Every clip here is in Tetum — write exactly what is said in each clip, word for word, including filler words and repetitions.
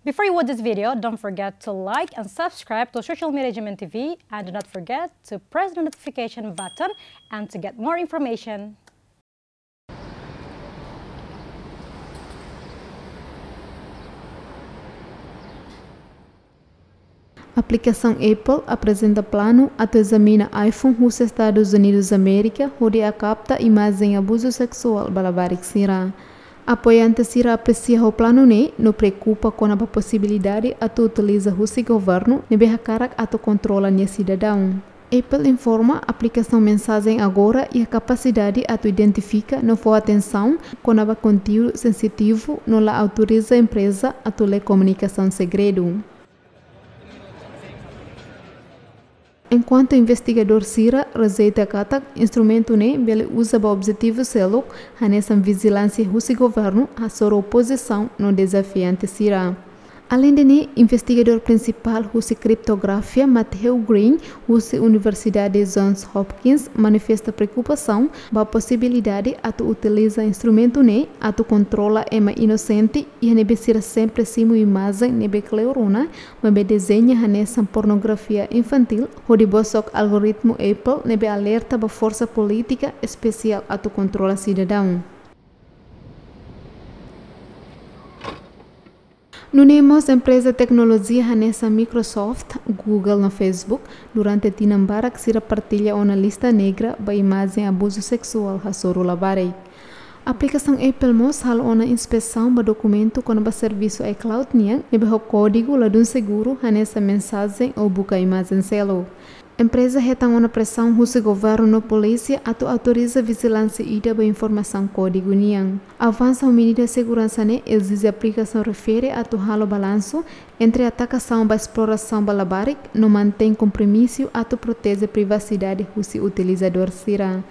Before you watch this video, don't forget to like and subscribe to Social Media G M N T V, and do not forget to press the notification button and to get more information. Aplikasaun Apple aprezenta planu atu ezamina iPhone husi Estadus Unidus Amérika hodi kapta imajen abuzu seksuál ba labarik sira. Apoiante sira apresia ho planu ne'e no preokupa kona-ba posibilidade atu utiliza husi governu ne'ebé hakarak atu kontrola nia sidadaun. Apple informa aplikasaun mensajen agora iha kapasidade atu identifika no fó atensaun kona-ba konteúdu sensitivu no la autoriza empreza atu lee komunikasaun segredu. Enkuantu investigadór sira rejeita katak instrumentu ne'e bele uza ba objetivu seluk, hanesan vijilánsia husi governu, hasoru opozisaun no dezafiante sira. Aleinde ne'e, investigadór prinsipál husi kriptografia, Matthew Green, husi Universidade Johns Hopkins, manifesta preokupasaun ba posibilidade atu utiliza instrumentu ne'e atu kontrola ema inosente, iha ne'ebé sira sempre simu imajen ne'ebé kleur ona, maibé dezeña hanesan pornografia infantíl, hodi bosok algoritmu Apple ne'ebé alerta ba forsa polítika espesiál atu kontrola sidadaun. Nune'e mós empreza teknolojia hanesan Microsoft, Google no Facebook, durante tinan barak sira partilla ona lista negra ba imajen abuzu seksuál hasoru labarik. Aplikasaun Apple mós halo ona inspesaun ba dokumentu kona-ba servisu iCloud nian, ne'ebé ho kódigu ladún seguru hanesan mensajen ou buka imajen seluk. Empreza hetan ona presaun husi governu no polísia atu autoriza vijilánsia ida ba informasaun kódigu nian. Avansa ho medida seguransa ne'e ezije aplikasaun refere atu halo balansu entre atakasaun ba esplorasaun ba labarik no mantein kompromisu atu proteje privasidade husi utilizadór sira.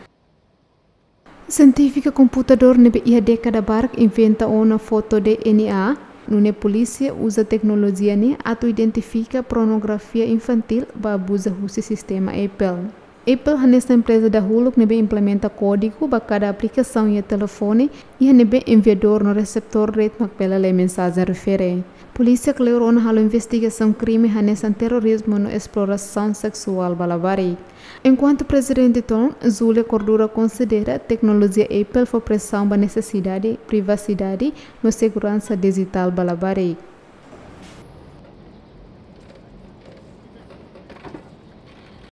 Sientífika komputadór ne'ebé iha dékada barak inventa ona foto-DNA, nune'e polísia uza teknolojia ne'e atu identifika pornografia infantíl ba abuza husi sistema Apple. Apple hanesan empreza dahuluk ne'ebé implementa kódigu ba kada aplikasaun iha telefone, iha ne'ebé enviadór no reseptór de'it mak bele lee mensajen refere. Polísia kleur ona halo investigasaun krime hanesan terorizmu no esplorasaun seksuál ba labarik. Enkuantu Prezidente Toon, Julia Cordura konsidera teknolojia Apple fó presaun ba nesesidade, privasidade no seguransa dijitál ba labarik.